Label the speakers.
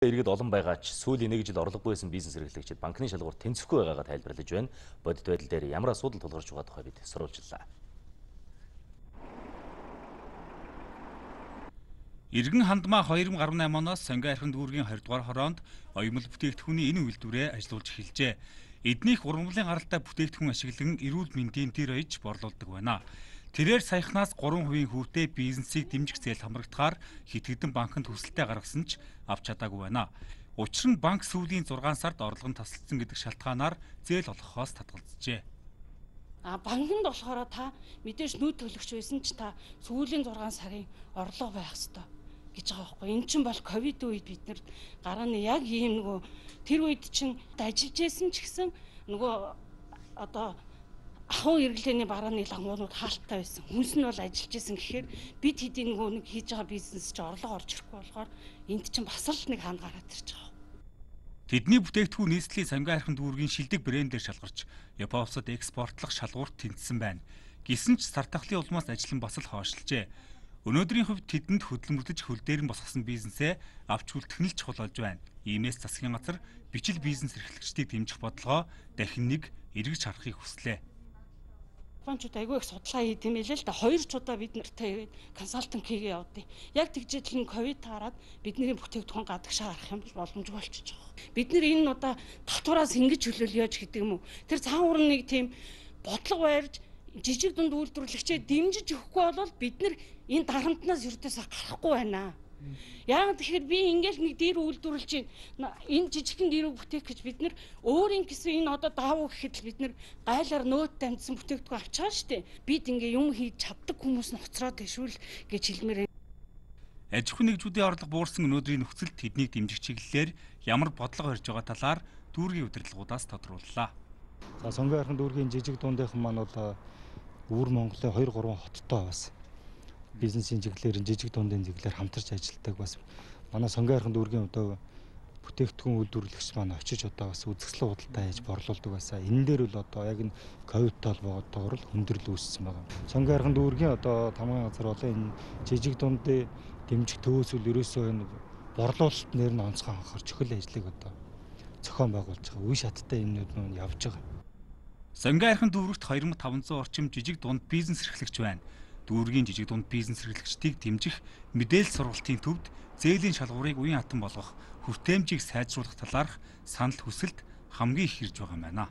Speaker 1: Иргэд олон байгаа ч сүүлийн 1 жил орлогогүй байсан бизнес эрхлэгчид банкны шалгуур тэнцэхгүй байгаагаа тайлбарлаж байна. Бодит байдал дээр ямар асуудал тулгарч байгаа тухай бид сурвалжлаа.
Speaker 2: Иргэн хандмаа 2018 оноос Сонгой архин дүүргийн 20 дугаар хороонд оёмл бүтээгдэхүүний энэ үйлдвэрээ ажиллуулж эхэлжээ. Эднийх ургамлын гаралтай бүтээгдэхүүн ашиглан эрүүл мэндийн тэр оёж борлуулдаг байна. Тэрээр саяхнаас 3% хүүтэй бизнесийг дэмжих зээл хамрагдахаар хитгэдэн банкнд хүсэлтээ гаргасан ч авч чадаагүй байна. Учир нь банк сүүлийн 6 сард орлого нь тасалдсан гэдэг шалтгаанаар зээл олгохоос татгалзжээ.
Speaker 3: Банкнд болохоор та мэдээж нүүд төлөгч байсан ч та сүүлийн 6 сарын орлого байх ёстой гэж байгаа байхгүй. Энэ чинь бол ковид үед бид нар гарааны яг ийм нөгөө тэр үед чинь ажиллаж байсан ч гэсэн нөгөө одоо ахуй хэрэглээний барааны лагмуунууд хаалттай байсан. Хүнс нь бол ажиллаж исэн гэхээр бид хэдийн нөгөө нэг хийж байгаа бизнес чи орлого орж ирэхгүй болохоор энд чинь бас л нэг хаан гараад ирж байгаа.
Speaker 2: Тэдний бүтээгдэхүүн нийслэлийн Сонгой архин дүүргийн шилдэг брэндээр шалгарч Японд экспортлох шалгуурт тэнцсэн байна. Гэсэн ч стартахлын улмаас ажил нь бас л хойшлжээ. Өнөөдрийн хувьд тэдэнд хөдөлмөрлөж хөл дээр нь босгосон бизнесээ авч үлдэх нь л чухал болж байна. Иймээс засгийн газар бичил бизнес эрхлэгчдийг дэмжих бодлогоо дахин нэг эргэж харахыг хүслээ.
Speaker 3: Банкчууд айгүй их судалгаа хийх юм хэлээ л да. 2 удаа бид нартай консалтинг хийгээ явдیں۔ Яг тэгжэл нь ковид таарад бидний бүтээгдэхүүн гадагшаа гарах юм бол боломжгүй болчихж байгаа. Бид нар энэ удаа татвараас ингэж хөлөөлж гэдэг юм уу? Тэр цаавар нэг тийм бодлого барьж жижиг дунд үйлдвэрлэгчээ дэмжиж өгөхгүй бол бид нар энэ дарамтнаас ердөөсөө гарахгүй байна. Яг тэгэхээр би ингээл нэг дээр үйлдвэрлэж байна. Энэ жижигхэн дээрөө бүтээх гэж бид нар өөрийн гэсэн энэ одоо даавуу гэхэд л бид нар гайлаар нөөт дамжсан бүтээгдэхүүн авч байгаа шүү дээ. Бид ингээ юм хийж чаддаг хүмүүс нь хоцроод дэшүүл гэж хэлмээр.
Speaker 2: Аж ахуйн нэгжүүдийн орлого буурсан өнөөдрийн нөхцөлд тэднийг дэмжих чиглэлээр ямар бодлого барьж байгаа талаар дүүргийн удирдлагуудаас тодрууллаа.
Speaker 4: За Сонгой архин дүүргийн жижиг дундийнхан маань бол өвөр Монголын 2-3 хоттой бас бизнесийн чиглэлээр жижиг дундын чиглэлээр хамтарч ажилладаг бас манай Сонгой архин дүүргийн одоо бүтээгдэхүүн үйлдвэрлэгч маань очиж одоо бас үзэсгэлэн худалдаа хийж борлуулдаг байсаа. Энэ дээр бол одоо яг энэ ковидтэй холбоотойгоор л хүндрэл үүссэн байна. Сонгой архин дүүргийн одоо тамгын газар болон энэ жижиг дундын дэмжих төвөөсөл ерөөсөө энэ борлуулалт нэр нь онцгой анхаар чөхөл ажлыг одоо зохион байгуулж байгаа. Үе шаттай юмнууд нь явж байгаа.
Speaker 2: Сонгой архин дүүрэгт 2500 орчим жижиг дунд бизнес эрхлэгч байна. Дүүргийн жижиг дунд бизнес эрхлэгчдийг дэмжих мэдээлэл сургалтын төвд зээлийн шалгуурыг үеийн хатан болгох хүртээмжийг сайжруулах талаарх санал хүсэлт хамгийн их ирж байгаа юм байна.